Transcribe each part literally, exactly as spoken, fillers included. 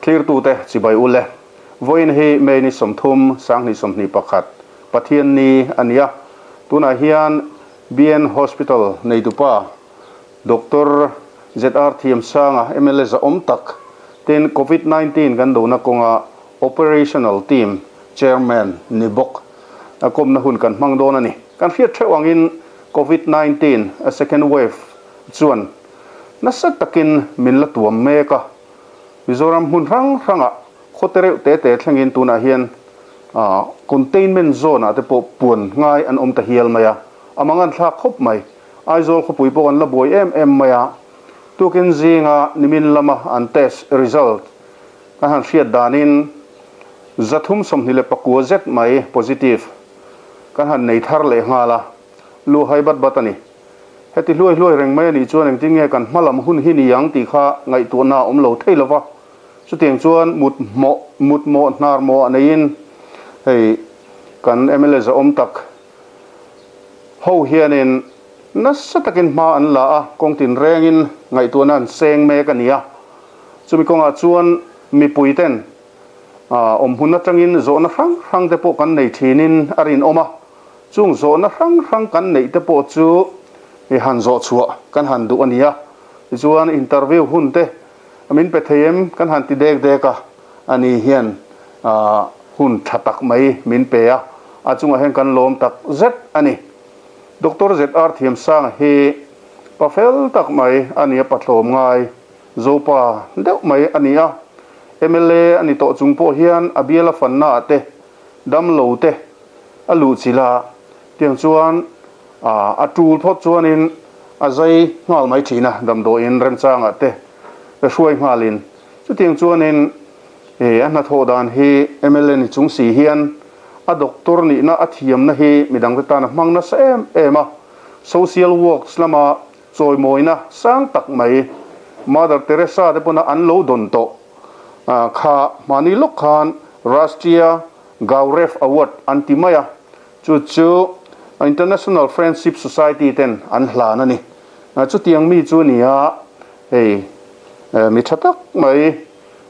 Thlirtute chibai ule vawiin hi May ni sawmthum Sanghnih sawmhnih pakhat Pathian ni a ni a, tunah hian B N Hospital neitupa Doctor Z R Thiamsanga M L A zahawm tak ten covid nineteen kan dona kawnga Operational Team Chairman ni bawk a kawmna hun kan hmang dawn a ni. Kan hriat theuh angin covid nineteen a second wave chuan nasa takin min la tuam mek a, Mizoram hmun hrang hrangah khawte reuh te te thlengin tunah hian containment zone ah te pawh puan ngai an awm ta hial mai a, a mangan thlak khawp mai. Aizawl khawpui pawh an la buai em em mai a, tukin zinga nimin lama an test result kan han hriat danin zathum sawmhnih leh pakua zet mai positive kan han nei thar leh nghal a, lu hai bat bat a ni. Heti hluai hluai reng mai a nih chuan engtin nge kan hmalam hun hi ni ang tih kha ngaihtuahna a awm lo thei lo va, chutiang chuan mut hmawh mut mawh hnar mawh a neiin hei kan M L A zahawm tak ho hianin nasa takin hma an la a, kawng tin rengin ngaihtuahna an seng mek a ni a. Chumi kawngah chuan mipui ten awm hun atangin zawhna hrang hrang te pawh kan nei thinin a rinawm a, chung zawhna hrang hrang kan neih te pawh chu i han zawh chhuah kan han duh a ni a. Tichuan interview hun te min pe thei em kan han ti dek dek a, ani hian hun tha tak mai min pe a, a chungah hian kan lawm tak zet a ni. Doctor Z R Thiamsanga hi pa fel tak mai a ni a, patlawm ngai Zopa deuh mai a ni a, M L A a ni tawh chung pawh hian a biala fanna ah te dam lo te a luh chilh a, tiang chuan a tul phawt chuanin a zai nghal mai thin a, damdawiin remchangah te hruai nghalin chutiang chuanin a hnathawh dan hi M L A ni chung si hian a doctor nihna a thiamna hi midangte tan a hmang nasa em em a, social works lama chawimawina sang tak mai Mother Teresa te pawna an lo dawn tawh kha hmani lawk khan Rashtriya Gaurav Award an ti mai a, chu chu International Friendship Society ten an hlan a ni. Chutiang mi chu ni a, hei mi tha tak mai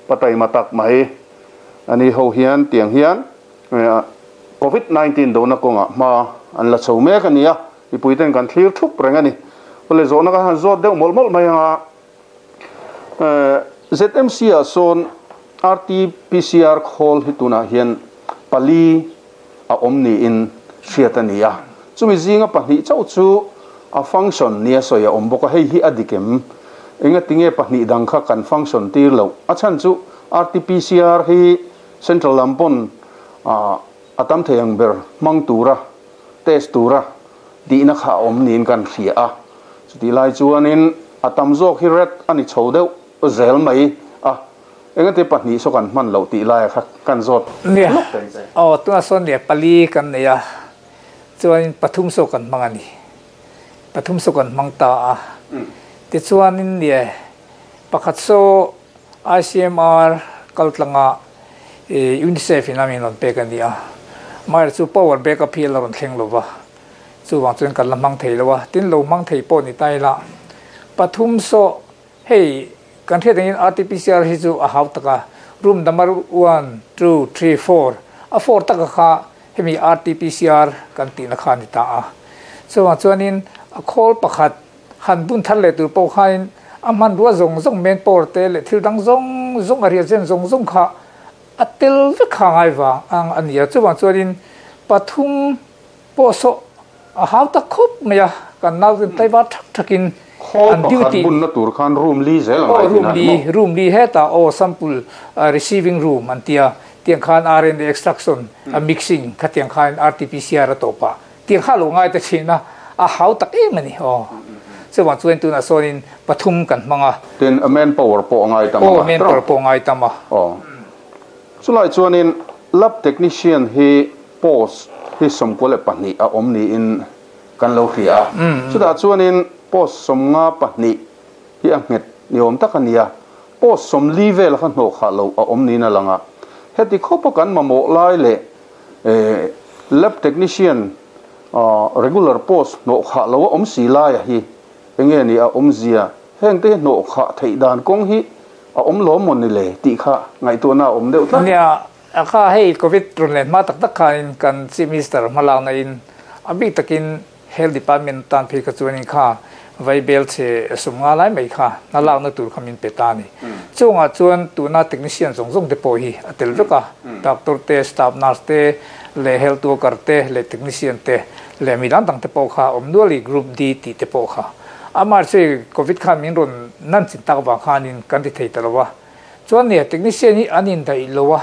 pataima tak mai ani ho hian tiang hian covid nineteen dona kawngah hma an la chho mek a ni a, mipui ten kan thlir thup reng a ni. Awle zawhna kan han zawt deuh mawlh mawlh mai anga Z M C ah sawn R T P C R khawl hi tunah hian pali a awm niin hriat a ni a, chumi zinga pahnih chauh chu a function nia sawi a awm bawk a, hei hi a dikem enga tinge pahnih dang kha kan function tir lo a chhan chu R T P C R hi central lampon a tam thei ang ber hmang tura test tura tihna kha a awm niin kan hria a, chuti lai chuanin a tam zawk hi red a ni chho deuh zel mai a, enga te pahnih saw kan hman loh tih lai kha kan zawt lawk thei che. Aw tuna sawn leh pali kan nei a, chuanin pathum saw kan hmang a ni, pathum saw kan hmang ta a, tichuanin leh pakhat saw I C M R kaltlanga UNICEF in a min rawn pek a ni a, mahir chu power backup hi a la rawn thleng lova, chuwang chuan kan la hmang thei lo a, tin lo hmang thei pawh ni ta ila pathum saw hei kan hriat angin R T P C R hi chu a hau taka room number one two three four a four taka kha hemi R T P C R kan tihna kha ni ta a, chuwang chuanin a khawl pakhat han bun thar leh tur pawh khain a hman rua zawng zawng main power te leh thil dang zawng zawng a ria chen zawng zawng kha a tel vek kha ngai wang ang a ni a, chuwang chuanin pathum pawh saw a hau tak khawp mai a, kan nau ten taiwa thak thakin an duty bunna tur khan room li zel ang ai room li room li heta aw sample receiving room an tia tiang khan R N A extraction a mixing kha tiang khan R T P C R a topa tiang kha lo ngai ta thina a hau tak em ani aw chuwang chuan tuna sawnin pathum kan hmanga ten a man power pawh ngai tama aw man power pawh ngai tama aw chulai chuanin lab technician hi post hi sawmkua leh pahnih a awm niin kan lo hria a, chutah chuanin post sawmnga pahnih hi a nghet ni awm tak a ni a, post sawmli vel kha hnawh khah lo a awm niin a lang a, heti khawpa kan mamawh lai leh lab technician regular post hnawh khah lo a awm si lai a hi enge ni a awm zia heng te hnawh khah theih dan kawng hi a awm lawm maw ni le tih kha ngaihtuahna a awm deuh tlat. Nia, a kha hei Covid rawn len hma tak tak khanin kan Chief Minister hmalakna in a bik takin Health Department tan phei kha chuanin kha vaibel chhe sum nga lai mai kha hna lakna tur kha min pe ta a ni. Chungah chuan tuna technician zawng zawng te pawh hi a tel vek a, doctor te, staff nurse te leh health worker te leh technician te leh mi dang dang te pawh kha awm nual i Group D tih te pawh kha. Amah chu Covid khan min rawn nan chin tak vang khanin kan ti thei ta lo a. Chuan nia technician hi an indaih lo a,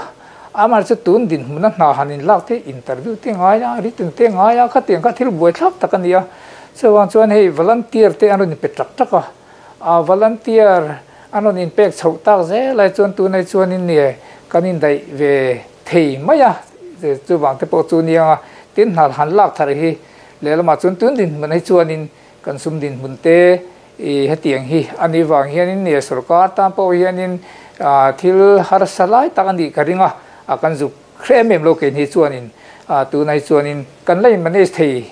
amah chu tun dinhmuna hna han inlak te interview te ngai a, written te ngai a, khatiang kha thil buaithlak tak a ni a. Chuvang chuan hei volunteer te an rawn inpe tak tak a, a volunteer an rawn inpek chhoh tak zel ai chuan tunai chuanin nia kan indaih ve thei mai a, chuvang te pawh chu nia nga tin hna han lak thar hi lehlamah chuan tun dinhmun ai chuanin kan sum dinhmun te i hetiang hi a nih vang hianin nia sorkar tan pawh hianin thil harsa lai tak a nih ka ring a, a kan zuk hreh em em lo keini hi chuanin tunai chuanin kan la in manage thei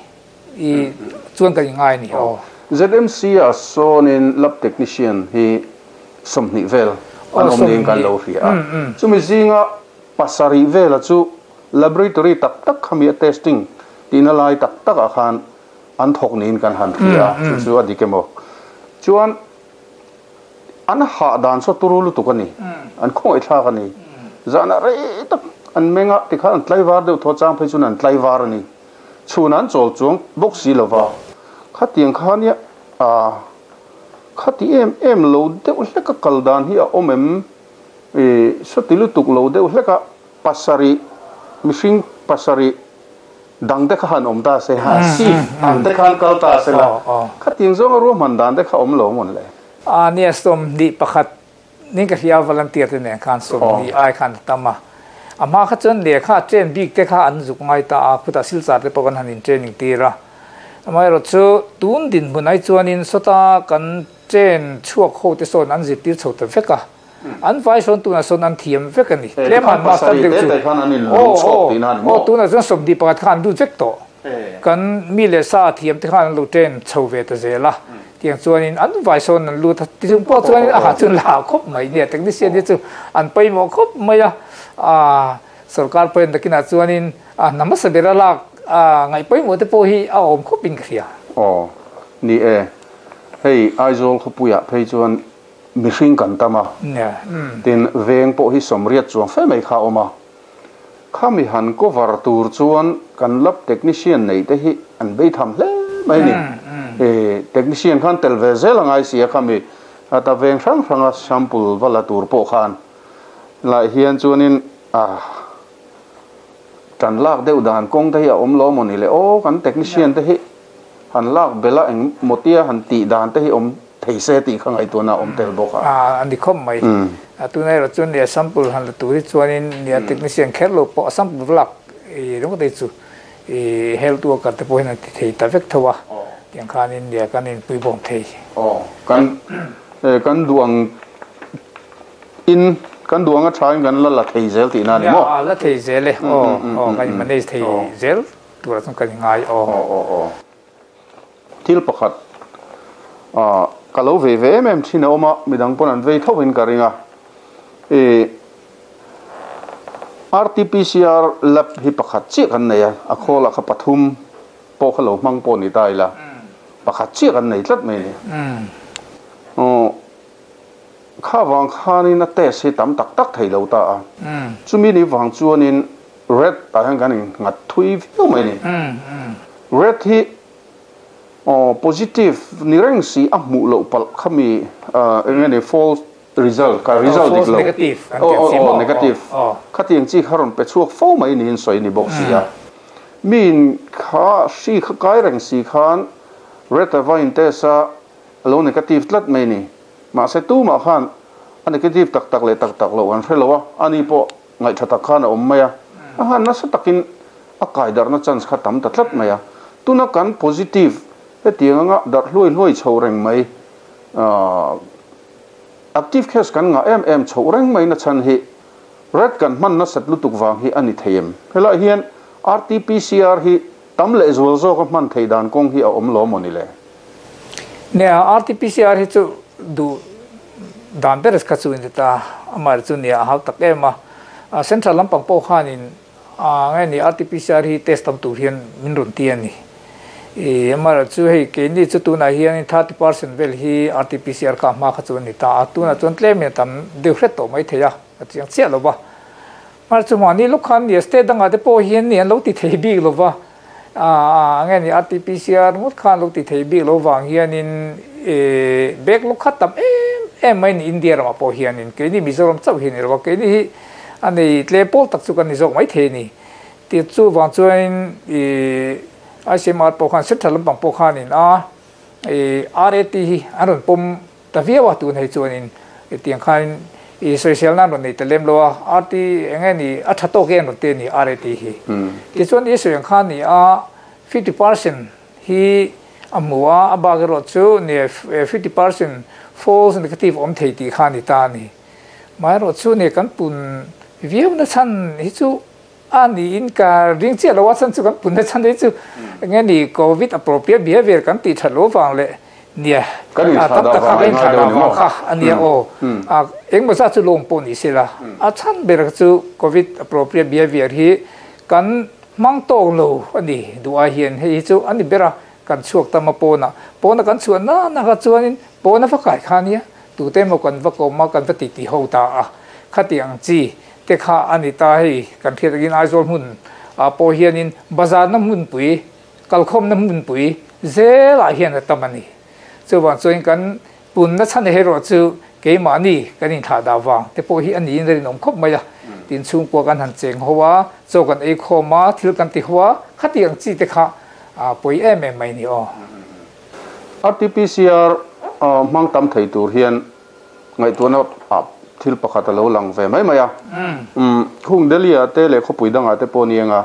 i chuan kan ingai a ni aw. Z M C ah sawnin lab technician hi sawmhnih vel an awm niin kan lo hria a, chumi zinga pasarih vela chu laboratory tak tak khami a testing tihna lai tak tak ah khan an thawk niin kan han hria a, chu chu a dik emaw chuan an hah dan saw turu lutuk a ni, an khawngaihthlak a ni, zahna rei tak an meng a tikhan an tlaivar deuh thaw chang phei chuan an tlaivar a ni, chhun an chawl chuang bawk si lova khatiang kha nia ah khati em em lo deuh hlek a kal dan hi a awm em ih sawti lutuk lo deuh hlek a pasarih mihring pasarih dang te kha han awm ta se ha shift ang te khan kal ta se la khatiang zawnga ruahman dan te kha awm lo mawn le. A nia sawmhnih pakhat ning ka hria volunteer te nen khan sawmhnih ai khan a tam a, a hma kha chuan lehkha train bik te kha an zuk ngai ta a, khutah silchar te pawh kan han in training tir a, amaherawh chu tun dinhmun ai chuanin sawta kan train chhuak ho te sawn an zirtir chho ta vek a, an vai sawn tunah sawn an thiam vek a ni, tlem han master deuh chu aw aw tunah chuan sawmhnih pakhat kha an lut vek tawh, kan mi leh sa thiam te khan an lo train chho ve ta zel a, tiang chuanin an vai sawn an lut a, tichung pawh chuanin a ha chuan la khawp mai nia technician hi chu an pawimawh khawp mai a, ah sorkar pawhin takinah chuanin a hna hmasa ber a lak ah ngaih pawimawh te pawh hi a awm khawpin ka hria. Aw ni e, hei Aizawl khawpuiah phei chuan mihring kan tam a, tin veng pawh hi sawmriat chuang fe mai kha a awm a, khami han cover tur chuan kan lab technician nei te hi an bei tham hle mai a ni. Technician khan tel ve zel a ngai si a, khami ta veng hrang hranga sample va la tur pawh khan lai hian chuanin ah tan lak deuh dan kawng te hi a awm lo maw ni le aw kan technician te hi han lak bela eng mawtia han tih dan te hi awm thei se tih kha ngaihtuahna a awm tel bawk a. A ni khawp mai. Tunah erawh chuan nia sample han la tur hi chuanin nia technician kher lo pawh sample va lak i ringawt hi chu i health worker te pawh hian an ti thei ta vek tho a, tiang khanin nia kan inpui bawm thei. Aw kan kan duang in kan duang a thain kan la la thei zel tihna a ni maw? Nia la thei zel e, aw aw kan in manage thei zel turah chuan kan ingai aw. Aw aw aw. Thil pakhat ah ka lo vei ve em em thin a awm a, midang pawn an vei tho in ka ring a, ih R T P C R lab hi pakhat chiah kan nei a, a khawlah kha pathum pawh kha lo hmang pawh ni ta ila, pakhat chiah kan nei tlat mai a ni. Aw kha vang khanin a test hi tam tak tak thei lo ta a, chumi ni vang chuanin red tah hian kan inghat thui viau mai a ni. Red hi aw positive ni reng si a hmuh loh palh khami eng nge ni false result ka result dik lo aw aw aw negative khatiang chi kha rawn pe chhuak fo mai niin sawi ni bawk si a, miin kha hri kha kai reng si khan red a va in test a a lo negative tlat mai ni, mahse tumah khan a negative tak tak leh tak tak loh an hre lo a, ani pawh ngaihtha tak khan a awm mai a, a han nasa takin a kai darhna chance kha tam ta tlat mai a, tuna kan positive hetiang anga darh hluai hluai chho reng mai ah active case kan ngah em em chhoh reng mai na chhan hi red kan hman nasat lutuk vang hi a ni thei em? Helaiah hian R T P C R hi tam leh zual zawk a hman thei dan kawng hi a awm lo maw ni le? Nia R T P C R hi chu duh Dan ber kha chu in ta amar chu nia hau tak em a central lampang pawh khanin a nge ni R T P C R hi test tam tur hian min rawn ti ani. E amar chu hei ke ni chu tuna hian thirty percent vel hi R T P C R ka ma kha chu ni ta. Tuna chuan tlem in tam deuh hret tawh mai thei a, a chiang chiah lo ba. Mar chu mani lukhan ni state danga te pawh hian ni an lo ti thei bik lo ba. A nge ni R T P C R ngut khan lo ti thei bik lo wang hianin e bek lukhat tam em em mai ni India rama pawh hianin ke ni Mizoram chauh hi ni lo ke ni hi ani tle pol tak chu kan ni zawk mai thei ni. Ti chu wang chuan e I C M R pawh khan central lampang pawh khanin a e R A T hi an rawn pawm ta viau a. Tun hei chuanin tiang khan i social nan rawn nei ta lem lo a, R T enge ni a tha tawk en rawn te ni R A T hi. Ti chuan i sawi ang khan ni a fifty percent hi a hmu a, a bak erawh chu ni fifty percent false negative awm thei tih khan ni ta ni. Mai erawh chu ni kan pun viau na chan hi chu a ni in ka ring chiah lo a. Chan chu kan pun na chan hi chu nge ni COVID appropriate behavior kan ti that lo wang le nia Kan in a thla tam dah tak kha vang kan in ngai thla deuh dah ni maw? Vang kha ania o a engmaw za chu lawng pawh ni se la. A chan ber chu COVID appropriate behavior hi kan mang tawk lo ani duai hian hei chu ani bera. Kan chuak tama pawna pawna kan chuan na na kha chuanin pawna va kai kha nia tu te maw kan va ko ma kan va ti ti ho ta a khati ang chi te kha ani ta. Hei kan thiat in Aizawl hmun a pawh hianin bazar na hmun pui kalkhawm na hmun pui zelah hian a tam ani. Chuwan chuan kan pun na chan hero chu keimahni kan in thla dah wang te pawh hi ani in rin awm khawp mai a. Tin chhungkua kan han cheng ho a, chaw kan ei khawm a, thil kan ti ho a, khati ang chi te kha a pui em em mai ni aw. R T P C R mang tam thei tur hian ngaihtuahna a thil pakhat a lo lang ve mai mai a. Um hung Delhi a te le khawpui danga te pawh nianga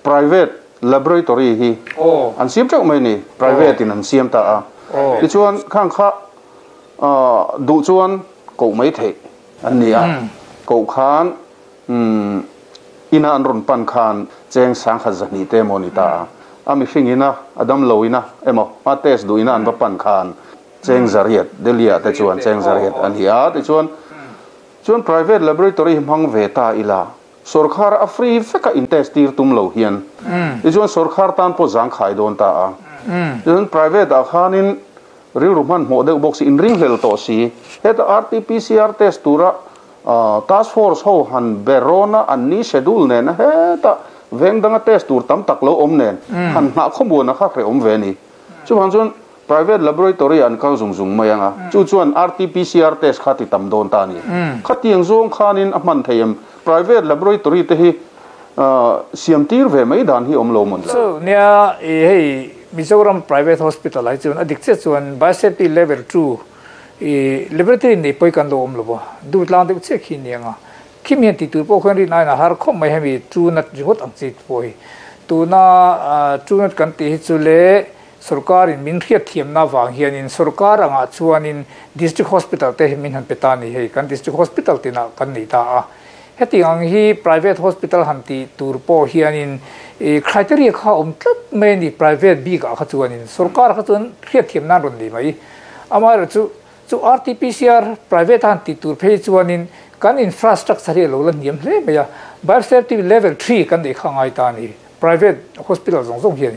private laboratory hi aw an siam teuh mai ni, private in an siam ta a. Aw ti chuan khang kha duh chuan ko mai thei an ni a, ko khan um ina an ron pan khan cheng sang kha zani te mo ni ta a. A mi hring ina adam lo ina emo a test du ina an va pan khan cheng zariat Delhi te chuan cheng zariat an hi a. Ti chuan chuan private laboratory hmang ve ta ila, sarkar a free veka in test tir tum lo hian ti chuan sarkar tan po zang khai don ta a. Chuan private a khanin rilru hman hmuh deuh bawk si in ring hlel tawh si heta R T P C R test tura task force ho han berona an ni schedule nen heta veng danga test tur tam tak lo awm nen han hna khawmuan a kha hre awm ve ni. Chuan chuan private laboratory an kal zung zung mai anga chu chuan R T P C R test kha ti tam dawn ta ni. Khatiang zawng khanin a hman theiam private laboratory te hi siam tir ve mai dan hi awm lo mon la? So nia e hei Mizoram private hospital ai chuan adik che chuan biosafety level two e laboratory nei poi kan lo awm lo ba du tlang deuh che khi nianga khimian ti tur pawh khan ri nai na har khom mai hemi chu nat ringot ang chi pawh tu na chu nat kan ti hi chu le sarkar in min hriat thiam na wang hian in sarkar anga chuanin district hospital te hi min han peta ni. Hei kan district hospital tina kan nei ta a. Heti ang hi private hospital han ti tur pawh hianin e criteria kha awm tlat mai ni. Private bik a kha chuanin sarkar kha chuan hriat thiam nan rawn nei mai. Amah chu chu R T P C R private han ti tur phei chuanin kan infrastructure hi lo la niam hle mai a. Biosafety level three kan nei kha ngai ta ni private hospital zawng zawng hian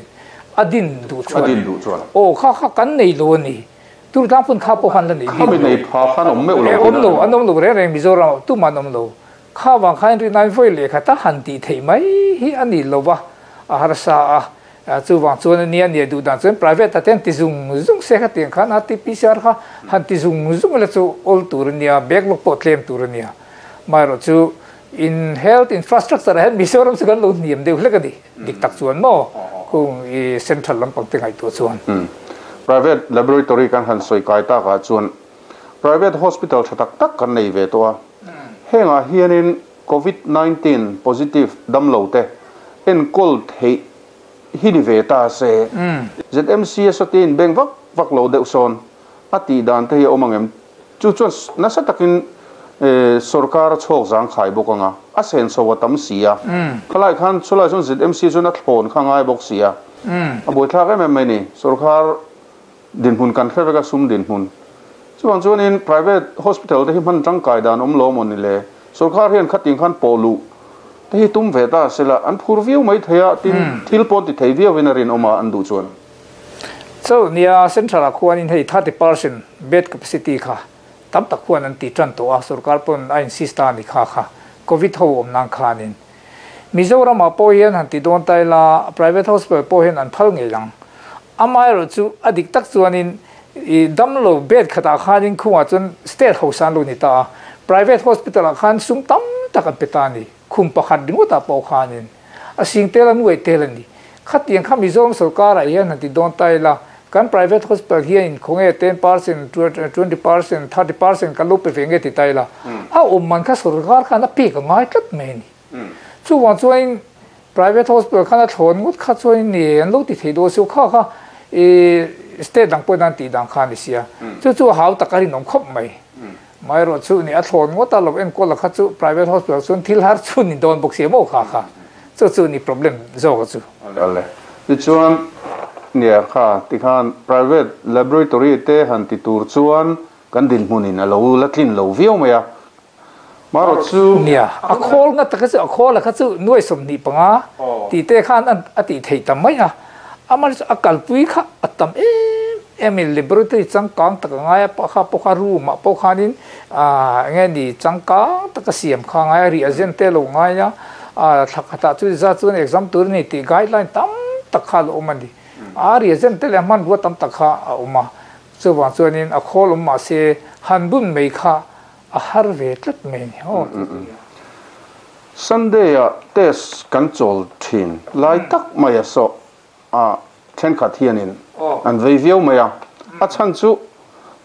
adin du chuan adin du chuan o kha kha kan nei lo ni tur tlang pun kha pawh han la nei khami nei pha khan awm meuh lo. Awm lo, an awm lo reng reng. Mizoram tu man awm lo kha wang khan ri nai voi le kha ta han ti thei mai hi ani lo wa a har sa a. Chu wang chuan nia nia du dan chuan private ta ten ti zung zung se kha tiang khan R T P C R kha han ti zung zung la chu ol tur nia bek lok pawh tlem tur nia. Mai ro chu in health infrastructure hen Mizoram chu kan lo niam deuh hlek ani dik tak chuan mo kung i central lampang te ngai tu chuan. Private laboratory kan han soi kai ta ka chuan private hospital thatak tak kan nei ve to a. Henga hianin COVID nineteen positive dam lo te en kol thei hi ni ve ta se Z M C satin beng vak vak lo deuh son ati dan te hi omangem chu chuan na sa takin sarkar chok zang khai bokanga a sen so tam sia khalai khan chulai chon Z M C chon a thlon kha ngai bok sia a boi thlak em em mai ni. Sarkar din hun kan hreveka sum din hun Chuan chuanin private hospital te hi hman tangkai dan awm lo maw ni le sarkar hian khating khan pawlu te hi tum ve ta sela an phur viau mai theia tin thil pawn ti thei viau in a rin awma an duh chuan. So nia central a khuanin hei thirty percent bed capacity kha tam tak khuan an ti tan to a sarkar pawn a insist ta ni kha kha covid ho awm nang khanin Mizoram a pawh hian han ti dawn tai la private hospital pawh hian an phal ngei lang amai ro chu adik tak chuanin i damlo bed khata khanin khuwa chun state hosan lo ni ta private hospital a khan sum tam tak an peta ni khum pakhat dingota pawh khanin a sing tel an wei tel ani khatiang kha Mizoram sarkar a hian han ti dawn tai la kan private hospital hian khonge ten percent twenty percent thirty percent kan lo pe ve nge ti tai la a awm man kha sarkar khan a pek a ngai tlat mai ni chu wang chuan private hospital khan a thlawn ngut kha chuan ni an lo ti thei do su kha kha e state dang pawh dan ti dang khan ni sia chu chu hau tak a rin awm khawp mai mai ro chu ni a thlawn ngut a lo enkawl kha chu private hospital chuan thil har chu ni dawn bawk sia maw kha kha chu chu ni problem zawk chu. Ale ti chuan nia kha ti khan private laboratory te han ti tur chuan kan din hmunin a lo la tlin lo viau mai a maro chu nia a khawl nga tak chu a khawl kha chu nuai som ni panga ti te khan an ati thei tam mai a amar a kalpui kha atam em em laboratory changkang tak ngai pa kha po kha room ma po khanin a nge ni changkang tak siam kha ngai reagent te lo ngai a a thakata chu za chu exam tur ni ti guideline tam tak kha lo mani a reagent te le man bo tam tak kha a uma chu wa chuanin a khawl um ma se han bun mei kha a har ve tlat mai ni ho. Sunday a test kan chol thin lai tak mai a so a then khat hianin an vei viau mai a a chan chu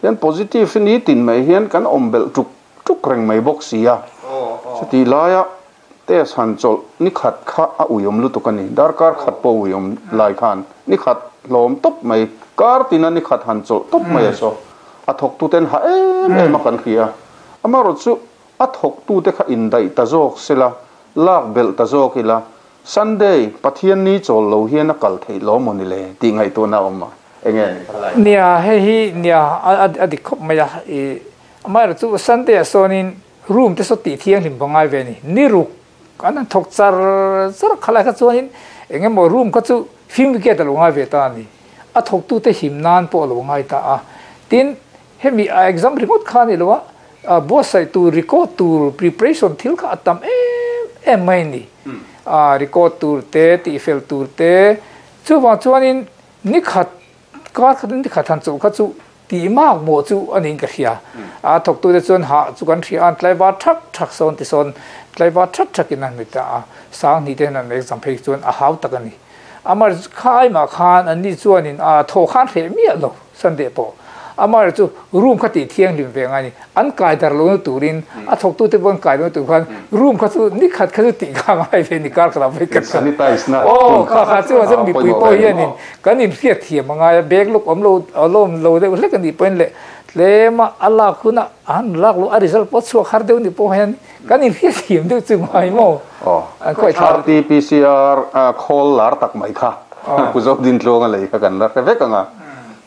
hian positive ni tin mai hian kan awm bel tuk tuk reng mai bawk si a chuti laia test han chol ni khat kha a uiawm lutuk ani darkar khat pawh uiawm lai khan ni khat hlawm tawp mai kar tina ni khat han chol tawp mai a so a thawk tu ten ha em em a kan hria amaro chu a thawk tu te kha in dai ta zawk sela lak bel ta zawk ila Sunday Pathian ni chol lo hian a kal thei lo maw ni le ti ngai tu na awm a enge nia hei hi nia a dik khawp mai a i amai ro chu Sunday a sawnin room te saw tih thiang hlim bangai ve ni ni ruk an an thawk char char khalai kha chuanin engemaw room kha chu film wicket a lo ngai ve ta ani a thawk tu te him nan pawh a lo ngai ta a tin hemi a exam ringawt kha ni lo a buatsaih tur record tur preparation thil kha a tam em em mai ni a record tur te tih fel tur te chuwang chuanin ni khat kar khat ni khat han chu kha chu ti mak mo chu anin ka hria a thawk tu te chuan ha chu kan hria an tlaiva thak thak sawn ti sawn tlaiva thak thakin an ni ta a sang ni te an exam phei chuan a hau tak ani amar khai ma khan an ni chuanin a tho khan hre mi lo Sunday pawh amar chu room kha ti thiang lim ve ngai ni an kai dar lo turin a thawk tu te bon kai lo tu khan room kha chu ni khat kha chu ti kha ngai ve ni kar kha ve ka sanitize na oh kha kha chu chu mi pui pawh hianin kan in hriat thiam angai a bag luk awm lo alawm lo deuh hlek ani pawhin le tlema a lak huna an lak lo a result pawh chhuak har deuh ni pawh hian kan in hriat thiam deuh chu ngai maw an khawi thla R T P C R khawl lar tak mai kha pu zo din tluang a lei kha kan la hre vek anga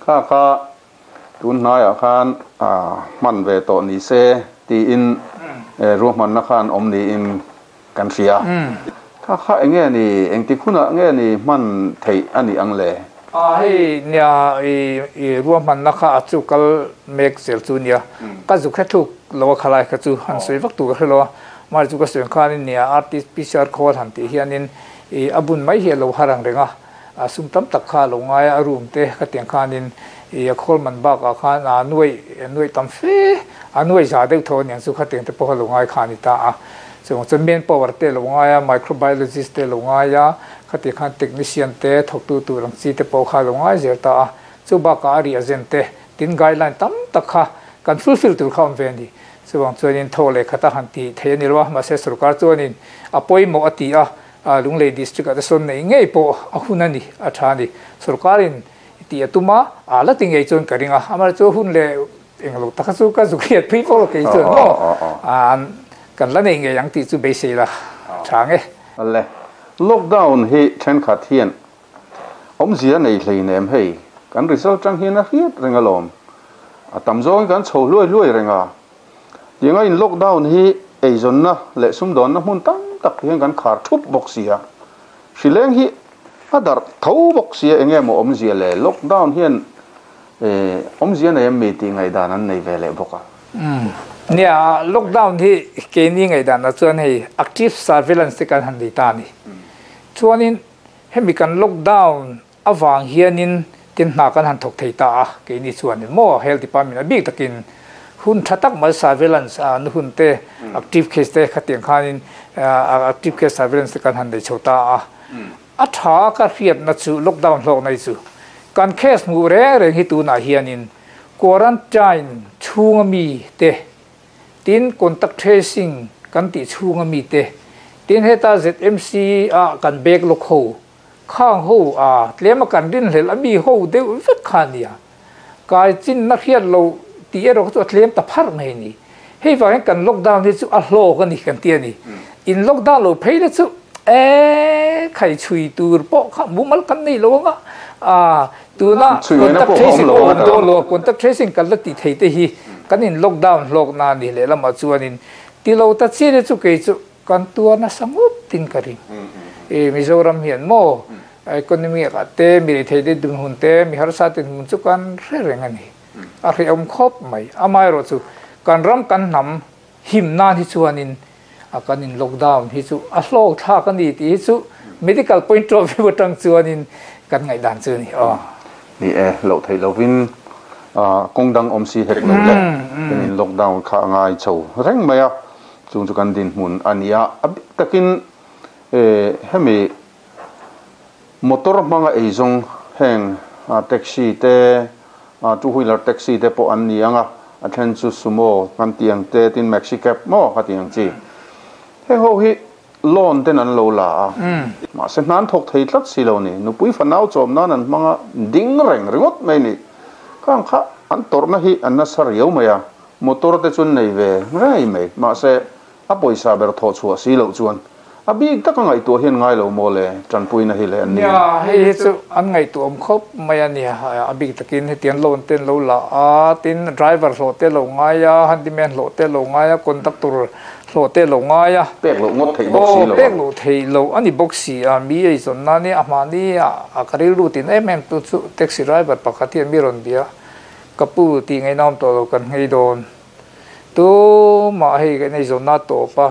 kha kha tun hnaiah khan a hman ve tawh ni se tiin ruahman na khan awm niin kan hria kha kha enge ni engti hunah nge ni hman theih ani ang le a hei nia i i ruahman na kha a chu kal mek zel chu nia ka zu kha thuk lo khalai kha chu han soi vak tu ka hrelo mar chu ka soi khan nia R T P C R khawl han ti hianin i abun mai hi lo harang renga a sum tam tak kha lo ngai a room te ka tiang khanin i a khawl man bak a khan a nuai nuai tam fe a nuai za deuh tho niang chu kha tiang te pawh lo ngai khan ni ta a chung chuan main power te lo ngai a microbiologist te lo ngai a khati khan technician te thawk tu tur ang chi te pawh kha lo ngai zel ta a chu bak a reagent te tin guideline tam tak kha kan fulfill tur kha awm ve ni chuwang chuanin tho leh khata han ti thei ani lo mahse sarkar chuanin a pawimawh a ti a Lunglei district a te sawn nei ngei pawh a hun ani a tha ni sarkarin ti atuma a la ti ngei chuan ka ringa amar chu hun le englo taka chu ka zukhiat pui pawh kei chuan maw an kan la nei ngei ang ti chu beisei la tha nge le lockdown hi then khat hian awm zia nei hlei nem hei kan result tang hian a hriat reng alawm A tam zawng kan chho hluai hluai reng a. Tianga in lockdown hi eizawn na leh sumdawn na hmun tam tak hian kan khar thup bawk si a. Hrileng hi a darh tho bawk si a, eng nge maw awmzia le lockdown hian awmzia nei em mi tih ngaihdan an nei ve leh bawk a. Nia, lockdown hi keini ngaihdan ah chuan hei active surveillance te kan han nei ta a ni. Chuanin hemi kan lockdown avang hianin tin hna kan han thawk thei ta a, keini chuanin maw health department a bik takin hun tha tak mai surveillance a nu hun te active case te khatiang khanin active case surveillance te kan han nei chho ta a. A tha ka hriatna chu lockdown hlawk nei chu kan case hmuh reng reng hi tunah hianin quarantine chhunga mi te tin contact tracing kan tih chhunga mi te tin heta Z M C a kan bag lawk ho khang ho a tlema kan rin hlel a mi ho deuh vek kha nia kai chin na hriat lo ti erawh chu a tlem ta phar mai ni hei vangin kan lockdown hi chu a hlawk a ni kan ti a ni in lockdown lo phei le chu e khai chui tur pawh kha mumal kan nei lo anga a tuna contact tracing pawh do lo contact tracing kan la ti thei te hi kan in lockdown hlawk na ni leh lama chuanin ti lo ta chi le chu kei chu kan tuarna sangup tin ka ring e Mizoram hian maw economy a te mi thei te dun hun te mi harsa tin hun chu kan hre reng ani a hre awm khawp mai amai ro chu kan ram kan hnam him nan hi chuanin a kan in lockdown hi chu a hlawk thlak ani ti hi chu medical point of view atang chuanin kan ngaihdan chu ni aw ni e lo thei lovin a kawng dang awm si hek lo le kan in lockdown kha ngai chho reng mai a chung chu kan din hmun ania a bik takin e hemi motor hmanga eizawng heng taxi te two wheeler taxi te pawh an ni anga a then chu sumo kan tiang te tin maxi cab maw kha tiang chi heng ho hi loan ten an lo la a ma se nan thok thei tlat si lo ni nupui fanau chawm nan an hmanga ding reng ringawt mai ni khang kha an tawrhna hi an nasa riau mai a motor te chuan nei ve rei mai ma se a pawisa ber thawh chhuah si loh chuan a bik taka ngaihtuah hian ngai lo maw le tanpuina hi le an ni nia hei hi chu an ngaihtuah awm khawp mai a ni a bik takin hetiang loan ten lo la a tin driver hlawh te lo ngai a handyman hlawh te lo ngai a conductor hlawh te lo ngai a pek loh ngawt theih bawk si lo pek loh theih lo ani bawk si a mi ei zawn na ni a mahni a ka rilru tin em em tu chu taxi driver pakhat hian mi rawn bia ka pu tih ngainawm tawh lo kan nghei dawn tu mah hei kan ei zawn na tawp a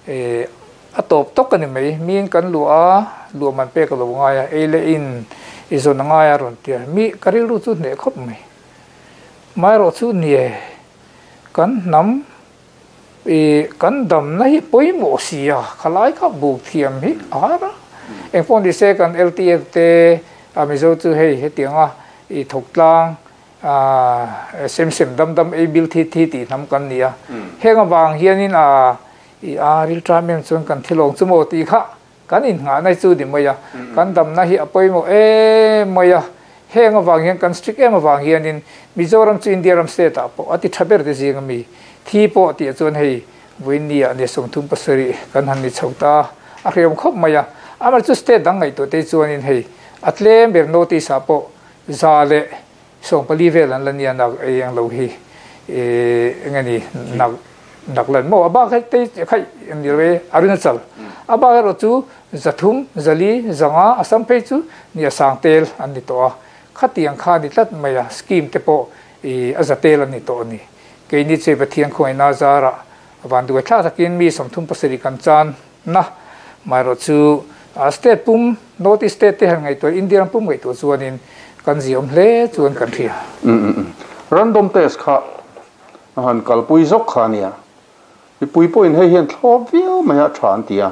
e a tawp tawk ani mai miin kan luah a luah man pek lo ngai a ei le in i zawn a ngai a rawn tia mi ka rilru chu hneh khawp mai mai rawh chu nie kan hnam e kan dam na hi pawimawh si a khalai kha buk thiam hi a har a eng pawh ni se kan L T F te a Mizo chu hei hetianga i thawk tlang a sem sem dam dam ei bil thi thi tih hnam kan ni a heng avang hianin a i a ril tram em chuan kan thilawng chu maw tih kha kan in nghah nai chu ni mai a kan dam na hi a pawimawh em mai a heng avang hian kan strict em avang hianin Mizoram chu India ram state ah pawh a ti tha ber te zing ami thi pawh tih chuan hei vuini ah ni sawmthum pasarih kan han ni chho ta a hriam khawp mai a amah chu state dang ngaihtuah te chuanin hei a tlem ber notice ah pawh za leh sawm pali vel an la nia nak ei ang lo hi e engani nak nak lan maw a bak hei te khai ni re Arunachal a bak erawh chu zathum zali zanga Assam phei chu ni a sang tel an ni tawh a khatiang kha ni tlat mai a scheme te pawh i a zatel an ni tawh ani keini che Pathian khawngaihna zara van duai thlak takin mi sawmthum pasarih kan chan na mai rawh chu a state pum north east state te han ngaihtuah India ram pum ngaihtuah chuanin kan ziawm hle chuan kan hria random test kha han kalpui zawk kha ania mipui pawhin hei hian thlawp viau mai a tha an ti a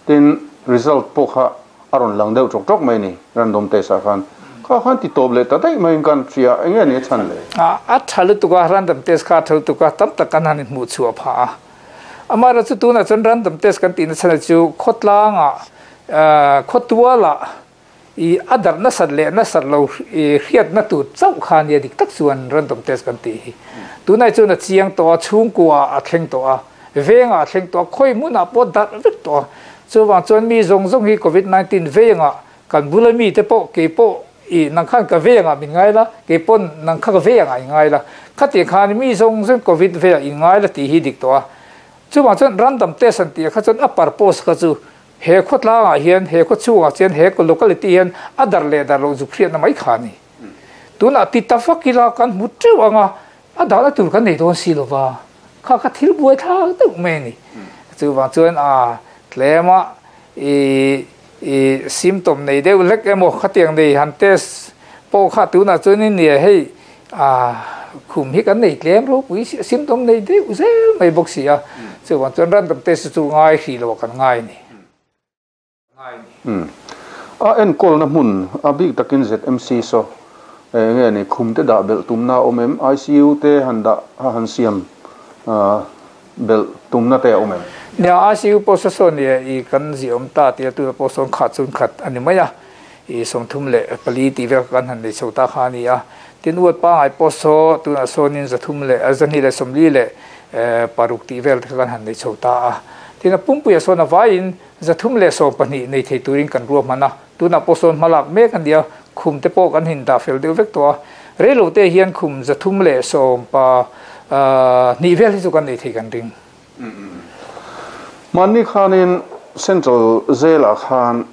tin result pawh kha a rawn lang deuh tawk tawk mai ni random test ah khan kha khan ti tawp leh ta daih mai in kan hria eng nge ni a chhan le a tha lutuk a random test kha a tha lutuk a tam tak kan han inhmuh chhuah phah a amah chu tunah chuan random test kan tihna chhan chu khawtlangah khawtualah i a darh nasat leh nasat lo hriatna tur chauh kha nia dik tak chuan random test kan tih hi tunah chuan a chiang tawh a chhungkua a thleng tawh a vengah a thleng tawh a khawi hmunah pawh darh vek tawh a chuwang chuan mi zawng zawng hi covid nineteen vengah kan bula mi te pawh kei pawh I nang khan ka ve anga min ngai la, ke pon nang kha ka ve anga ngai la, khati khan mi zong zong covid ve i ngai la ti hi dik to a. Chu ma chuan random test an ti kha chuan a purpose kha chu he khot la nga hian, he kho chu nga chen, he ko locality hian adar le dar lo zu khriat na mai kha ni. Tuna ti tafakila kan mu teu anga adala tur kan nei don si lova kha kha thil buai tha tu me ni. Chu wang chuan a tlema i i symptom nei deuh lek emaw khatiang nei han test po kha tu na chuan ni hei a khum hi kan nei tlem ro pui symptom nei deuh zel mai bawk si a. Chu wang chuan random test chu ngai hi lo kan ngai ni. Hmm. A en kol na mun a big takin Z M C so nge ni khum te da bel tum na omem I C U te han da han siam bel tum na te omem. Nia I C U po so so ni i kan zi om ta ti tu po son khat chun khat ani maya i som thum le pali ti ve kan han le chota kha ni a. Tin uat pa ai po so tu na so nin za thum le azani le somli le paruk ti vel kan han le chota a. Tin pum pu ya so na vain za thum le so pani nei thei turin kan ruam mana tu na po son malak me kan dia khum te po kan hin da fel deuh vek to re lo te hian khum za thum le som pa ni vel hi chu kan nei thei kan ring. Mani khanin central zela khan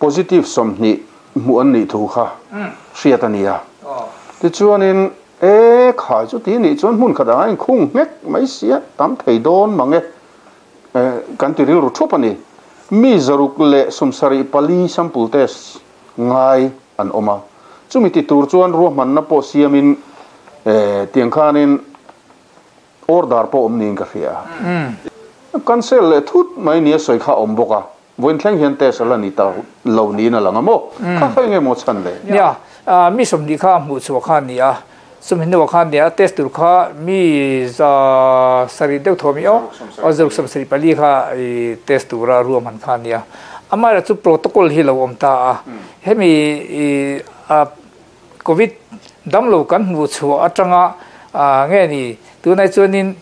positive som ni mu an ni thu kha hriatania ti chuanin e kha chu ti ni chuan mun khada in khung ngek mai sia tam thei don mange kan ti ril ru thupani mi zaruk le sumsari pali sample test ngai an oma chumi ti tur chuan ru man na po siamin e tiang khanin order po om ning ka hria cancel le thut mai ni soi kha om boka voin thleng hian test la ni ta lo ni na langa mo kha khai nge mo chan le. Ya mi som ni kha mu chu kha ni a sum hin kha ni a test tur kha mi za sari deuh thomi o o zaruk som sari pali kha i test tura ruam han kha ni a. Amara chu protocol hi lo om ta a hemi a covid dam lo kan mu chu atanga nge ni tu nai chuanin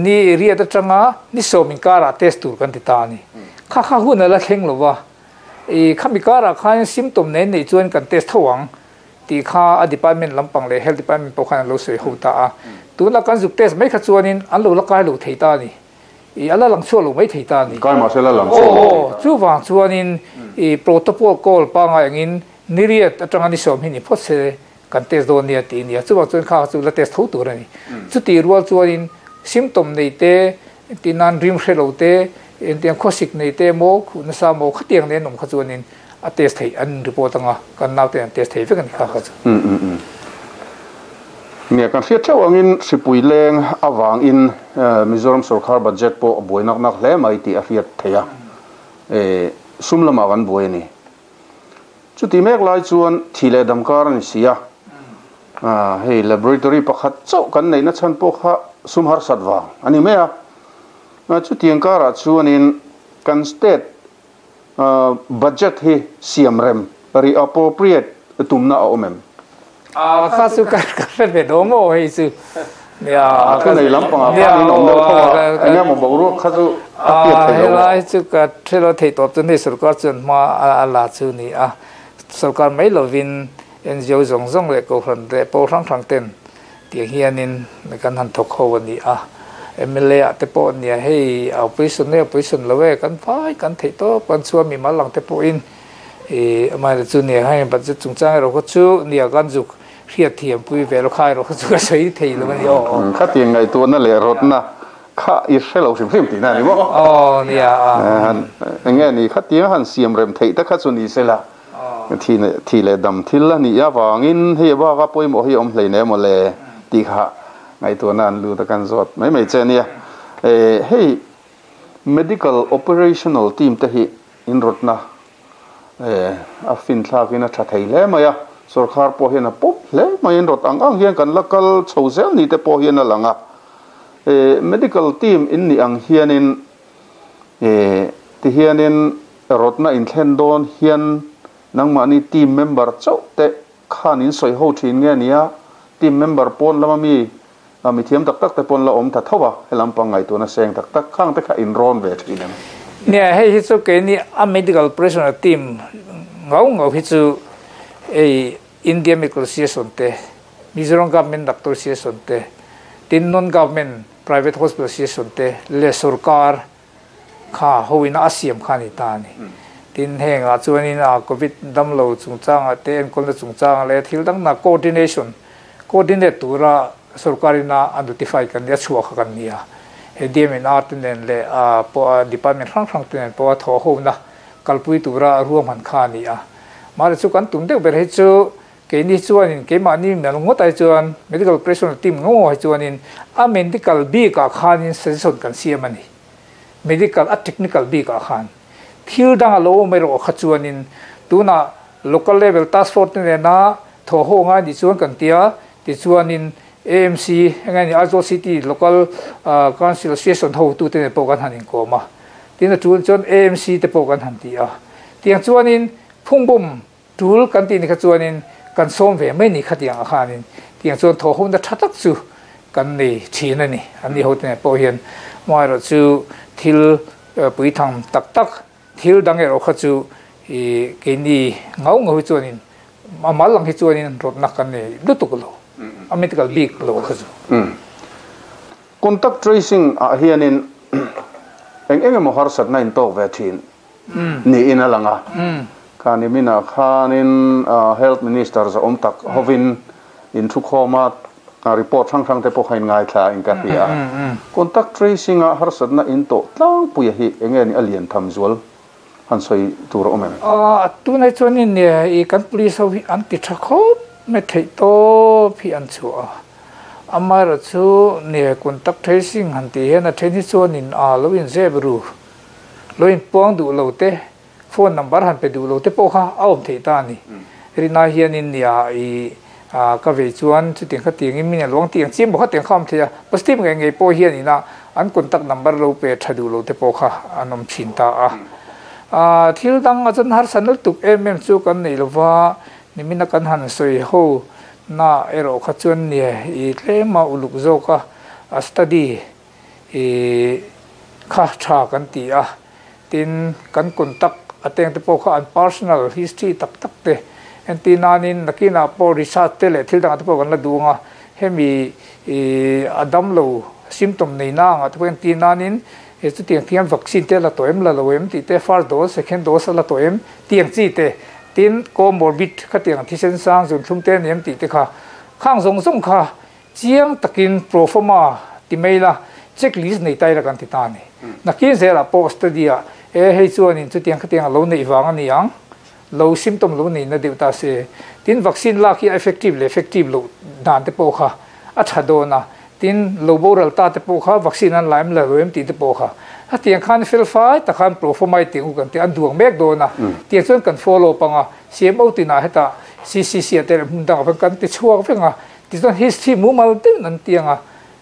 ni ria ta tanga ni somin kara test tur kan ti ta ni kha kha hun la thleng lo wa e khami kara khan symptom nei nei chuan kan test thawang ti kha a department lampang le health department pawh khan lo soi ho ta a. Tu la kan zuk test mai kha chuanin an lo la kai lo thei ta ni e ala lang chu lo mai thei ta ni kai ma se la lang chu o chu wang chuanin e protocol call pa nga angin ni riat atanga ni som hi ni phot se kan test don nia ti nia chu wang chuan kha chu la test tho tur ani. Chu ti rual chuanin symptom nei te ti nan rim hre lo te en tiang khosik nei te mo khu na sa mo khatiang ne nom kha chuanin a test thei an report anga kan nau te an test thei vek ani kha kha chu. Mm mm mm nia kan hriat theuh angin sipui leng awang in Mizoram sarkar budget po buai nak nak hle mai ti a hriat theia e sum lama kan buai ni chu ti mek lai chuan thile damkar ani sia a hei laboratory pakhat chau kan nei na chan po kha sum har satwa ani me a chu tiang kara chuanin kan state budget hi siam rem reappropriate tumna a omem a kha su ka ka ve do mo hei su ya ka nei lampang a pa ni om deuh thawa enge mo bo ru kha chu a piat thei lo lai chu ka thelo thei top chu ni sarkar chuan ma a la chu ni a sarkar mai lovin N G O zong zong le ko hran te po rang rang ten ti hianin kan han thok ho ani a M L A te po nia hei operation ne operation lowe kan phai kan thei to pan chua mi malang te po in e mai chu nia hai budget chung chang ro ko chu nia kan juk hriat thiam pui ve lo khai ro chu ka sei thei lo ani o kha ti ngai tu na le rot na kha i hrelo hrim hrim ti na ni mo o nia nge ni kha ti han siam rem thei ta kha chu ni sela thi ne thi le dam thil la ni ya wangin hei ba ka poi mo hi om hlei ne mo le ti kha ngai tu nan lu ta kan zot mai mai che nia e hei medical operational team te hi in rot na e a fin thla kin a tha thei le mai a sarkar po hian a pop hle mai in rot ang ang hian kan lakal chho zel ni te po hian a langa e medical team in ni ang hianin e ti hianin rotna in thlen don hian nangma ni team member chau te khan in soi ho thin nge nia team member pon lama mi mi thiam tak tak te pon la om tha thowa helam pangai tu na seng tak tak khang te kha in ron ve thin em nia hei hi chu ke ni a medical operational team Ngau ngau hi chu ei India Medical Association te Mizoram Government Doctor Association te tin non government private hospital association te le sarkar kha hoina asiam khani ta ni tin henga chuanin a covid dam lo chungchanga te en kolna chungchanga le thil dang na coordination coordinate tura sarkarina an notify kan ya chhuwa kha kan nia he D M N R ten le a po department hrang hrang ten po tho ho na kalpui tura ruam han kha ni a mare chu kan tum deuh ber he chu ke ni chuanin ke ma ni mel ngot ai chuan medical pressure team ngo ai chuanin a medical bi ka khanin suggestion kan siam ani medical a technical bi ka khan thil dang lo mai ro kha chuanin tuna local level task force ne na tho ho nga ni chuan kan tia ti chuanin A M C ngai ni Aizawl City local council association ho tu te po kan hanin ko ma tin chuan chuan A M C te po kan han ti a tiang chuanin phungbum tul kan ti ni kha chuanin kan som ve mai ni khatiang a khanin tiang chuan tho hom da thatak chu kan nei thin ani ani ho te po hian mai ro chu thil pui thang tak tak thil dang ero kha chu i ke ni ngau ngau chuanin amal lang hi chuanin rot nak kan nei lutuk lo a medical big lo kha chu contact tracing a hianin eng eng emaw har sat na in tok ve thin ni in alanga khani mina khanin health minister za om tak hovin in thu khoma report thang thang te pawh khain ngai thla in ka hria contact tracing a har sat na in to tlang puia hi enge ni alian tham zual han soi tur om em a tu nei chuanin ne i kan police ho hi an ti tha khop me thei to phi an chu a amar chu ne contact tracing han ti hen a then hi chuanin a lo in zebru lo in pong du lo te phone number han pe du lo te pawh kha a awm thei ta ni rina hianin nia i a ka ve chuan chu tiang kha tiang in min luang tiang chim bo kha tiang kham thei a positive nge nge pawh hian ina an contact number lo pe tha du lo te pawh kha an awm thin ta a a thil dang a chan har sanal tuk em em chu kan nei lova nimina kan han soi ho na ero kha chuan ne i tlema uluk zoka a study i kha tha kan ti a tin kan contact ateng te pawh kha an personal history tak tak te anti nanin nakina po research te le thil dang te pawh kan la duanga hemi i adam lo symptom nei na nga te anti nanin e chu tiang tiang vaccine te la toem la loem ti te first dose second dose la toem tiang chi te tin comorbid kha tiang thisen sang zun thum te nem ti te kha khang zong zong kha chiang takin proforma ti meila checklist nei tai la kan ti ta ni nakin zela post dia e hei chuanin chu tiang kha tiang lo nei wang ani ang lo symptom lo nei na deuh ta se tin vaccine la khi effective le effective lo dan te pawh kha a tha dona tin lo boral ta te pawh kha vaccine an laim la roem ti te pawh kha a tiang khan fel fai ta khan proforma ti u kan te an duang mek dona tiang chuan kan follow panga C M O tina heta C C C te hmun dang kan kan ti chuak venga ti chuan history mu mal te nan tianga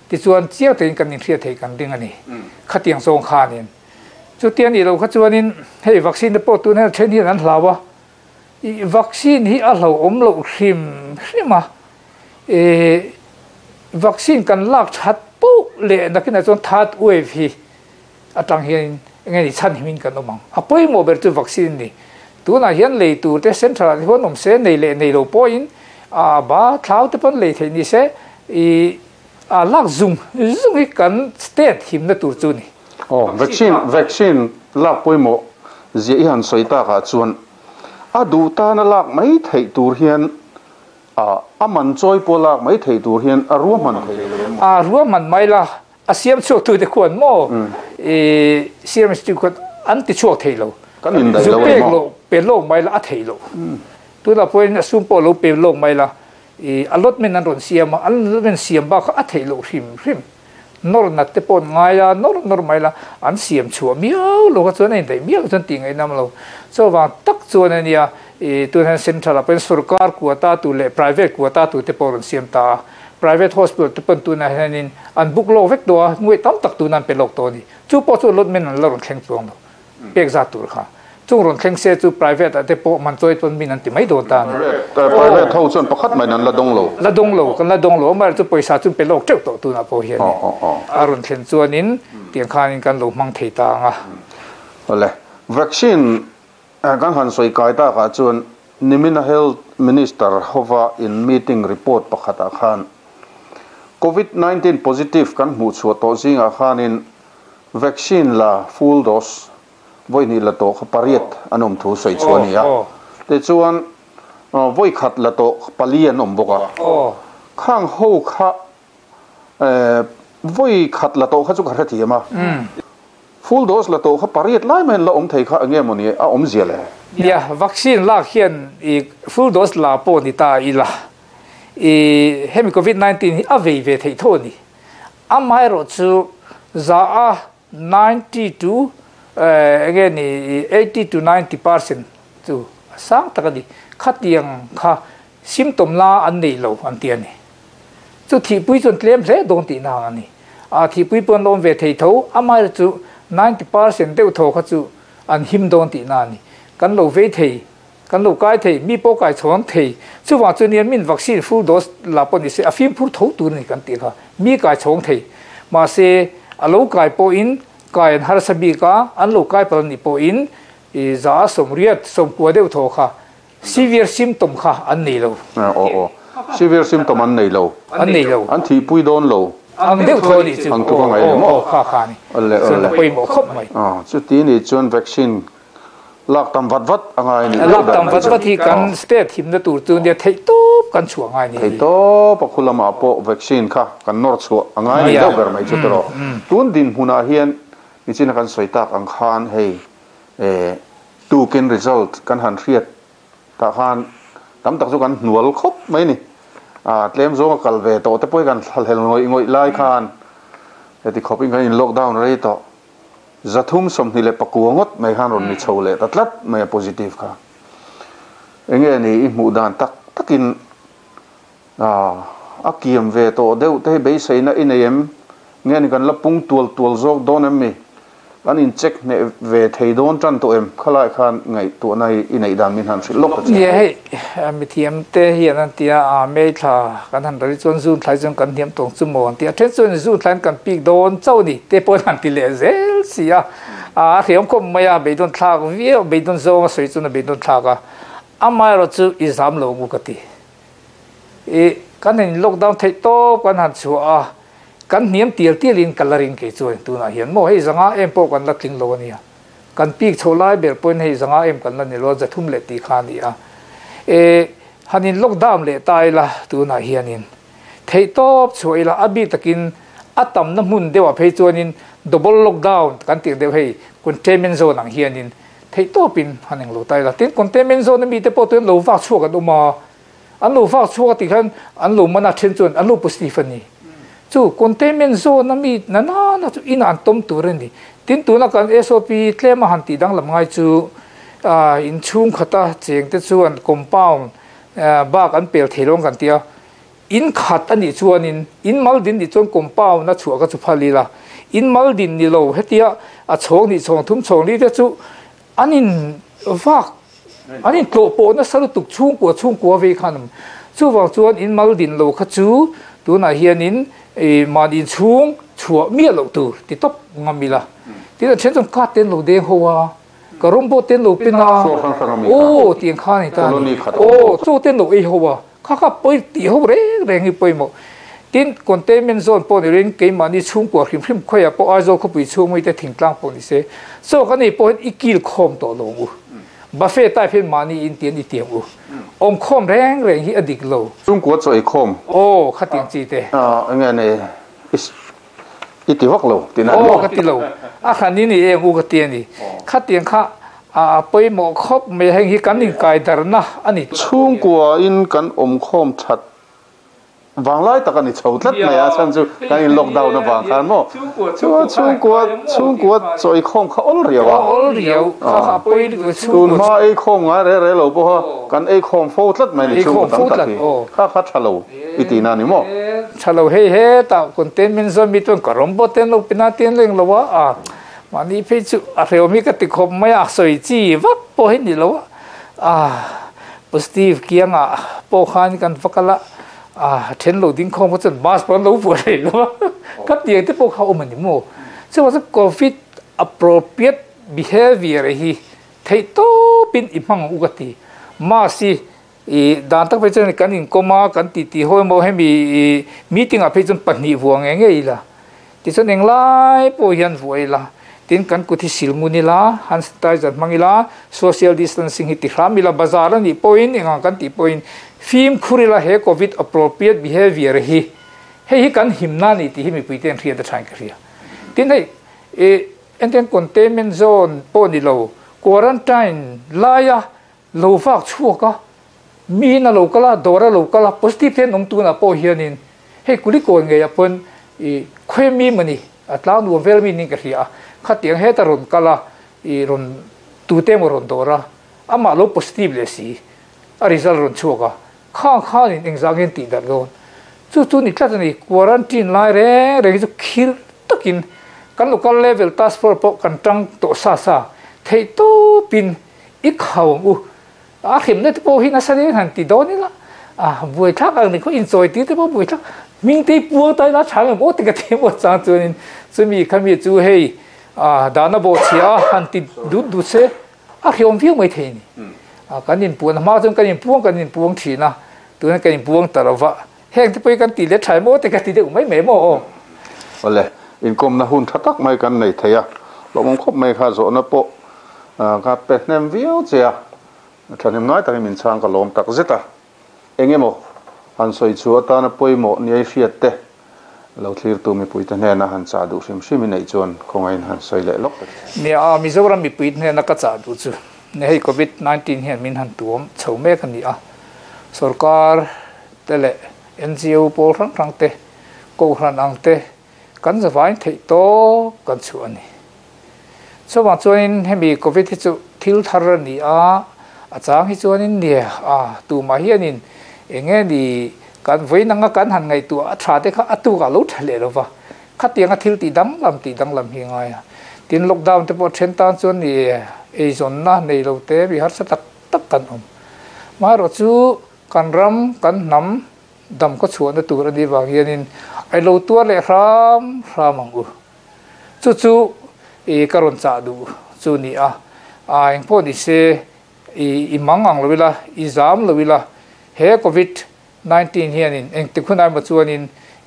ti chuan chiang tein kan in hria thei kan ding ani kha tiang song khanin chu tian ni lo kha chuanin hei vaccine te pawh tun hian then hian an hlawa i vaccine hi a hlo awm lo hrim hrima e vaccine kan lak that po le nakina chuan third wave hi atang hian nge ni chan himin kan awm ang a pawimawh ber chu vaccine ni tuna hian lei tur te central hian awm se nei leh nei lo pawhin a ba thlau te pawn lei thei ni se i a lak zung zung hi kan state him na tur chu ni oh vaccine vaccine lak pawimawh zia i han sawi takah chuan a duh tana lak mai thei tur hian a aman chawi pawh lak mai thei tur hian a ruam man thei a ruam man mai la a siam chuak tu te khuan mo e siam stu khuan an ti chuak thei lo kan in dai lo pek lo pe lo mai la a thei lo tu la point a sum pawh lo pe lo mai la e allotment an ron siam a allotment siam ba kha a thei lo hrim hrim nor nat te pon ngai a nor nor mai la an siam chua miau lo ka chuan in dai miau chuan ti ngai nam lo cho wang tak chuan ania e tu han central pen sarkar quota tu le private quota tu te por siam ta private hospital te pon tu na hanin an book lo vek do ngui tam tak tu nan pe lok to ni chu po chu lot men an la ron thleng chuang lo pek za tur kha chung ron thleng se chu private ate po man choi ton min an ti mai do ta private ho chuan pakhat mai nan la dong lo la dong lo kan la dong lo mar chu paisa chu pe lok teuh to tu na po hian a ron thlen chuanin tiang khanin kan lo mang thei ta nga ole vaccine Kan han soi kai ta ka chuan nimina health minister hova in meeting report pakhat a khan covid nineteen positive kan hmu chu to zinga khanin vaccine la full dose voi ni la to pariat anom thu soi chuania te chuan voi khat la to pali anom boka khang ho kha voi khat la to kha chu kha thi ma full dose la to kha pariat lai men la om thei kha ange moni a om zia le ya vaccine la hian i full dose la po ni ta ila i hemi covid nineteen hi a vei ve thei tho ni amai ro chu za a ninety to again eighty to ninety percent chu sang takadi khatiang kha symptom la an nei lo an ti ani chu thi pui chon tlem hle don ti na ani a thi pui pon lom ve thei tho amai chu ninety percent deuh tho kha chu an him don ti na ni kan lo ve thei kan lo kai thei mi po kai chon thei chu wa chu nian min vaccine full dose la pon ni se a phim phur tho tur ni kan ti kha mi kai chong thei ma se a lo kai po in kai an har sabi ka an lo kai pal ni po in i za som riat som kwa deuh tho kha severe symptom kha an nei lo o o severe symptom an nei lo an nei lo an thi pui don lo ang deuh tho ni chu ang tu ka ngai mo kha kha ni alle alle poi mo khop mai a chu ti ni chuan vaccine lak tam vat vat angai ni lak tam vat vat hi kan state him na tur chu nia thei top kan chuang ngai ni thei top akhulama po vaccine kha kan nor chu angai ni do ber mai chu tro tun din huna hian ni chin kan soitak ang khan hei e tu ken result kan han riat ta khan tam tak chu kan hnual khop mai ni a tlem zo kal ve to te poi kan hel ngoi ngoi lai khan heti khoping kan in lockdown rei to zathum somni le pakuangot mai khan ron ni chhole tatlat mai positive kha enge ni i mu dan tak takin a akiam ve to deuh te be seina in em nge ni kan lapung tual tual zok don em mi an in check ne ve thei don tran to em khalai khan ngai tu nai in ei dan min han sil lok ye hei mi thiam te hian an tia a me thla kan han ri chon zun thlai chon kan thiam tong chu mo an tia then chon zun thlan kan pik don chau ni te pon han ti le zel sia a thiam kom maya be don thlak vi be don zo soi chun be don thlak a amai ro chu i zam lo mu ka ti e kan in lockdown thei to kan han chu a kan niam tial tialin coloring ke chuan tuna hian mo hei zanga em po kan la tling lo ania kan pik cholai ber point hei zanga em kan la ni lo zathum le ti kha ni a e hanin lockdown le tai la tuna hianin thei top chuila abi takin atam na mun dewa phei chuanin double lockdown kan ti deu hei containment zone ang hianin thei topin haning lo tai la tin containment zone mi te po tun lo wa chuak an uma an lo wa chuak ti khan an lo mana then chuan an lo positive ani chu containment zone mi na na na chu in an tom tur ani tin tu na kan S O P tlema han ti dang lam ngai chu a in chung khata cheng te chuan compound bak an pel thelong kan tia in khat ani chuan in in mal din ni chuan compound na chu ka chu phali la in mal din ni lo hetia a chhong ni chhong thum chhong li te chu anin vak anin tlo po na saru tuk chung ko chung ko ve khanam chu wang chuan in mal din lo kha chu tuna hianin e man in chung chua mi lo tu ti top ngamila ti na chen chong ka ten lo deng hoa ka rom bo ten lo pina o tiang kha ni ta o chu ten lo ei hoa kha kha poi ti ho re reng hi poi mo tin containment zone po ni ring ke mani chung ko hrim hrim khoya po a zo kho pui chung mui te thing tlang po ni se so ka ni po ikil khom to lo u buffet tai phen mani in tian i tiang u om khom reng reng hi adik lo chung ko choi khom o kha tiang chi te a nge ne is iti vak lo tin o kha ti lo a kha ni ni eng u ka ti ni kha tiang kha a poi mo khop me heng hi kan ning kai dar na ani chung ko in kan om khom that wang lai tak ani chho tlat mai a chan chu kan in lockdown na wang khan mo chu chung ko chung ko choi khom kha ol riawa ol riau kha kha poi tun ma ei khom nga re re lo po kan ei khom fo tlat mai ni chung tam tak kha kha thalo iti na ni mo thalo he he ta containment zone mi ton karom bo ten lo pina ten leng lo wa a mani phe chu a reo mi ka ti khom mai a soi chi vak po he ni lo a positive kianga po khan kan fakala à then lo ding khom chen mas pon lo pu rei lo ka tiang te po kha om ani mo so wa covid appropriate behavior hi Thei to pin i hmang u ka ti ma si i dan tak pe chen kan in koma kan ti ti hoi mo hemi meeting a pe chun pahnih vuang nge nge ila ti chun englai po hian vuai la tin kan kuthi silnguni la hand sanitizer mangila social distancing hi ti hramila bazar ani point engang kan ti point phim khurila he covid appropriate behavior hi hei hi kan himna ni ti hi mi puiten hria da thain ka hria tin hei e enten containment zone po ni lo quarantine laia lo vak chuaka mi na lo kala dora lo kala positive ten om tu na po hianin hei kuli ko nge yapon i khwe mi mani atla nu vel mi ning ka hria khatiang he taron kala i ron tu te mo ron dora ama lo positive le si a result ron chuaka kha kha in engzangin ti dar don chu chu ni tlat ni quarantine lai re re chu khir takin kan local level task force po kan tang to sa sa thei to pin i khawng u a khim na te po hi na sa de han ti don ni la a buai thak ang ni ko in choi ti te po buai thak ming te pu tai la chang mo te ka te mo chang chu ni chu mi khami chu hei a dana bo chia han ti du du se a khiom viu mai thei ni a kan in puan ma chung kan in puang kan in puang thina tu na kan in puang tarawa heng te poi kan ti le thai mo te ka ti de mai mai mo ole in kom na hun thatak mai kan nei theia lomong khop mai kha zo na po ka pe hnem viau chia thanem ngai takin min chang ka lom tak zeta engemo han soi chu atana poimo ni ai fiat te lo thlir tu mi puite hne na han cha du hrim hrim nei chuan khongain han soi le lok ni a Mizoram mi puit hne na ka cha du chu ne hei covid nineteen hian min han tuam chho mek ani a sarkar tele N G O pol rang rang te ko hran ang te kan zawain thei to kan chu ani so wa chuan hemi covid hi chu thil thar ani a a chang hi chuanin ni a tu ma hianin enge ni kan voinanga kan han ngai tu a tha te kha atu ka lo thale lova khatianga thil ti dang lam ti dang lam hi ngai a tin lockdown te po then tan chuan ni e zon na nei lo te bi har sa tak tak kan om ma ro chu kan ram kan nam dam ko chuan na tur ani wang hianin ai lo tua le ram ramang u chu chu e karon cha du chu ni a a eng po ni se i i mangang lovila i zam lovila he covid nineteen hianin eng ti khunai ma chuanin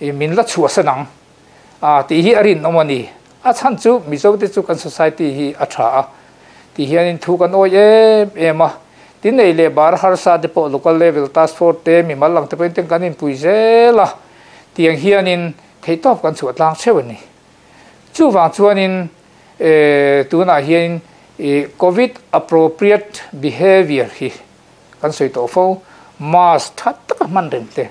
i min la chua sanang a ti hi arin omani a chan chu mizo te chu kan society hi a tha a ti hianin thu kan oi em em a tin nei le bar har sa de po local level task force te mi malang te pen ten kan in pui zela tiang hianin theitop kan chu tlang chewani chu wang chuanin e tuna hian e covid appropriate behavior hi kan soi to fo mask that tak man reng te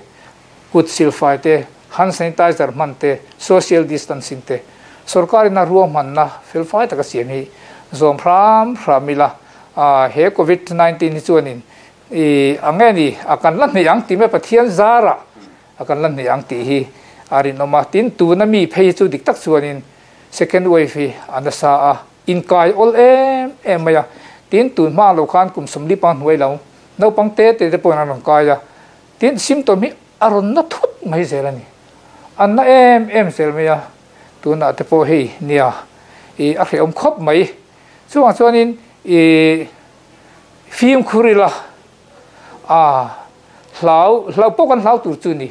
kut sil fai te hand sanitizer man te social distancing te sarkar na ruam man na fel fai tak siam hi zom phram phramila a he covid nineteen hi chuanin e angeni akan lan nei ang ti me Pathian zara akan lan nei ang ti hi arin oma tin tu na mi phei chu dik tak chuanin second wave hi anasa a in kai ol em em maya tin tu ma lo khan kum somli pa hnuai lo no pang te te te pon an kai ya tin symptom hi aron na thut mai zelani an na em em zel maya tu na te po hei nia e a hreom khop mai chuang chuanin e phim khurila a hlau hlau po kan hlau tur chu ni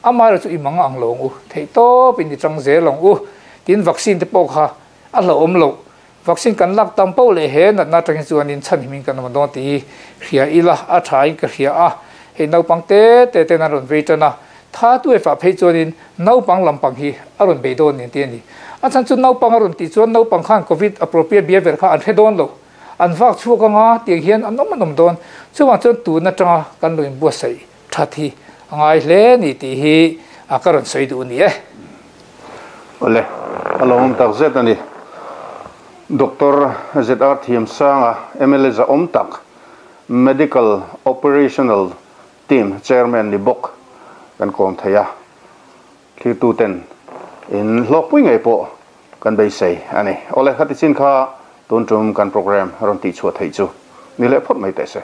amar chu imang ang long u thei to pin ni chang zelong u tin vaccine te po kha a lo om lo vaccine kan lak tam po le he na na tang chuanin chan himin kan ma don ti hria ila a thai ka hria a he nau pang te te te na ron veitana tha tu e fa phei chuanin nau pang lampang hi aron be don ni te ni a chan chu nau pang aron ti chuan nau pang khan covid appropriate behavior kha an the don lo an vak chu ka nga ti hian an om anom don chuwa chuan tu na tanga kan loin bu sei thathi angai hle ni ti hi a karon sei du ni e ole along tak zet ani Doctor Z R Thiam Sanga M L A za om tak Medical Operational Team Chairman ni bok kan kom theia thlir tu ten in hlok pui ngei po kan bei sei ani ole khati chin kha tun tum kan program ron ti chu thei chu ni le phot mai te se.